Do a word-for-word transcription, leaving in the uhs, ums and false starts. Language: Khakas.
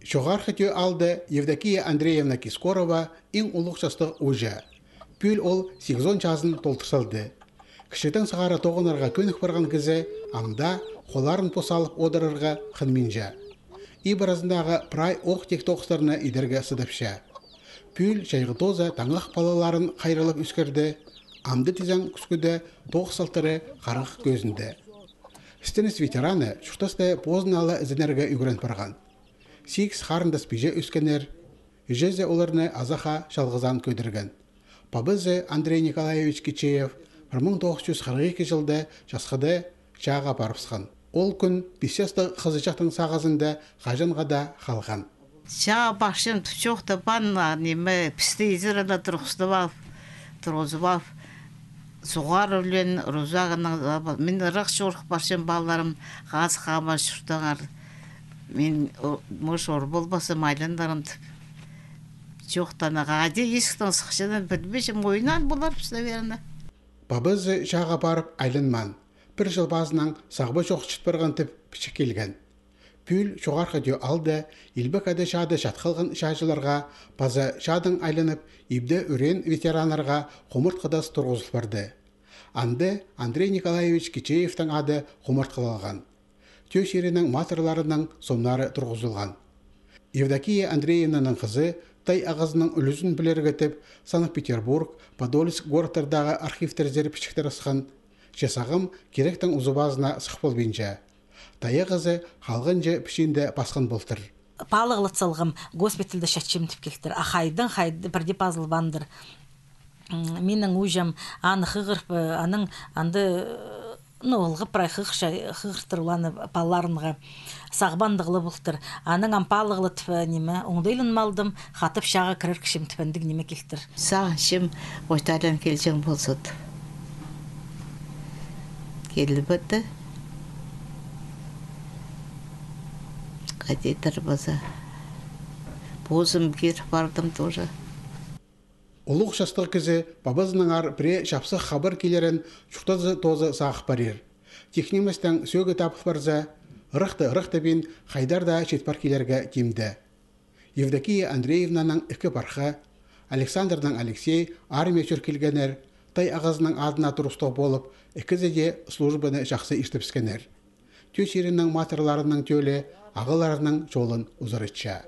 Чоғархы Тӧӧ аалда Евдокия Андреевна Кискорова иң улуғ частығ ууҷа. Пӱӱл ол сигізон чазын толдыр салды. Кічігдең сығара тоғынарға кӧнік парған кізі ам даа холларын пос салып одырарға хынминча. Иб аразындағы прай ох-тик тоғыстарны идерге сыдапча. Пӱӱл чайғы тооза таңах палаларын хайраллап ӧскірді, амды тізең кӱскӱде тоғыс салтары харах кӧзінде. Істеніс ветераны чуртаста позына ла ізенерге ӱгрен парған. Сигіс харындас-пиҷе ӧскеннер, іҷезі оларны азахха чалғызаан кӧдірген. Пабазы Андрей Николаевич Кичеев пір муң тоғыс чӱс хырых ікі чылда часхыда чааға парыбысхан. Ол кӱн пис частығ хызыҷахтың сағызында хаҷанға даа халған. Чааға парчам, чоохтабаан, а, ниме, пісті изере ла турғызып ал, турғызып ал. Суғар ӱлеен, рузағының, мин ырах чорых парчам, палаларым, хазых хабар чуртаңар. Мин, о, мыш ор полбассам, айланарым тіп. Чоохтаан, хайди, исіктең сыхчаның пілбинчем, ойнаан поларбыс, наверно. Пабазы чааға парып айланмаан. Пір чыл пазынаң сағба чох чіт парған тіп пічік килген. Пӱӱл Чоғархы Тӧӧ аалда Илбек Ада чаада чат халған чааҷыларға паза чаадаң айланып, ибде ӱреен ветераннарға хумартхы тас турғызыл парды. Анда Андрей Николаевич Кичеевтің ады хумартхылалған. Тӧӧ чирінің матырларының сомнары турғызылған. Евдокия Андреевнаның хызы тай ағазының ӱлӱзін пілерге тіп Санкт-Петербург, Подольск городтардағы архивтерзер пічіктер ысхан, че сағам киректің узы-пазына сых полбинча. Тай ағазы халғанҷы пічиинде пасхан полтыр. Палығлат салғам, госпитальда чатчам тіп килтір. А хайдаң, хайда, пірдее пазылбаандыр. М, минің ууҷам аны хығырып, э, аның анда, э, ну, ылғап прай хығырча, хығыртыр ол аны палаларынға. Сағбандығ ла полтыр. Анаң ам палығлатып, э, ниме, оңдайланып алдым, хатап чааға кірер кізім тіп андағ ниме килтір. Сағынчам, ойталаан килҷең полза тіп. Киліп парды. Хайди-дір паза. Позым кир пардым тоже. Улуғ частығ кізі пабазынаңар пірее чапсых хабар килерін чуртазы тооза сағып парир. Тик ниместең сӧӧгі табыл парза, ырахты ырах тібин, хайдар даа чит пар килерге тимде. Евдокия Андреевнаның ікі пархы, Александрнаң Алексей, армия чӧр килгеннер, тай ағазының адына турыстығ полып, ікізі дее службаны чахсы иртібіскеннер. Тӧӧ чирінің матырларының тӧлі ағаларының чолын узаратча.